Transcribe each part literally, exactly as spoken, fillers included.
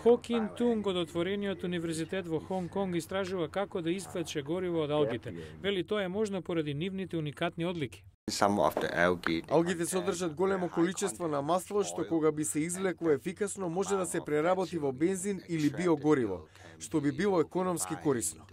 Хо Кин Тунг од отворениот универзитет во Хонг Конг истражува како да извлече гориво од алгите. Вели тоа е можно поради нивните уникатни одлики. Алгите содржат големо количество на масло што кога би се извлекло ефикасно може да се преработи во бензин или биогориво, што би било економски корисно.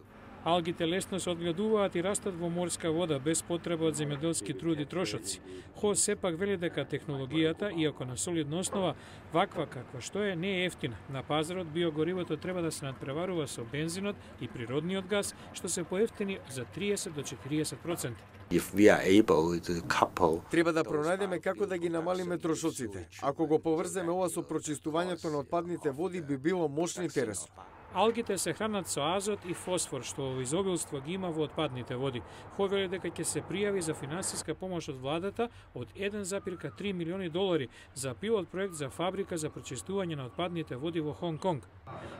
Алгите лесно се одгледуваат и растат во морска вода без потреба од земјоделски труд и трошоци. Хо сепак вели дека технологијата, иако на солидна основа, ваква каква што е, не е ефтина. На пазарот биогоривото треба да се надпреварува со бензинот и природниот газ, што се поевтини за триесет до четириесет проценти. Треба да пронајдеме како да ги намалиме трошоците. Ако го поврземе ова со прочистувањето на отпадните води, би било мощно интересно. Алгите се хранат со азот и фосфор, што во изобилство ги има во отпадните води. Хо вели дека ќе се пријави за финансиска помош од владата од еден запирка три милиони долари за пилот проект за фабрика за прочистување на отпадните води во Хонг Конг.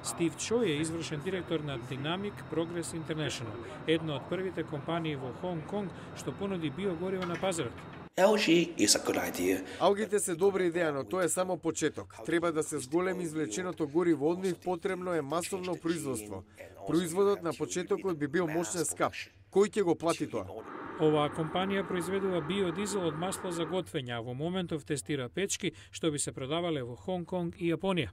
Стив Чој е извршен директор на Dynamic Progress International, една од првите компании во Хонг Конг што понуди биогориво на пазарот. Алгите се добра идеја, но тоа е само почеток. Треба да се зголеми извлеченото гориво од нив, потребно е масовно производство. Производот на почетокот би бил мощен скап. Кој ќе го плати тоа? Оваа компанија произведува биодизел од масло за готвење, а во моментов тестира печки што би се продавале во Хонг Конг и Јапонија.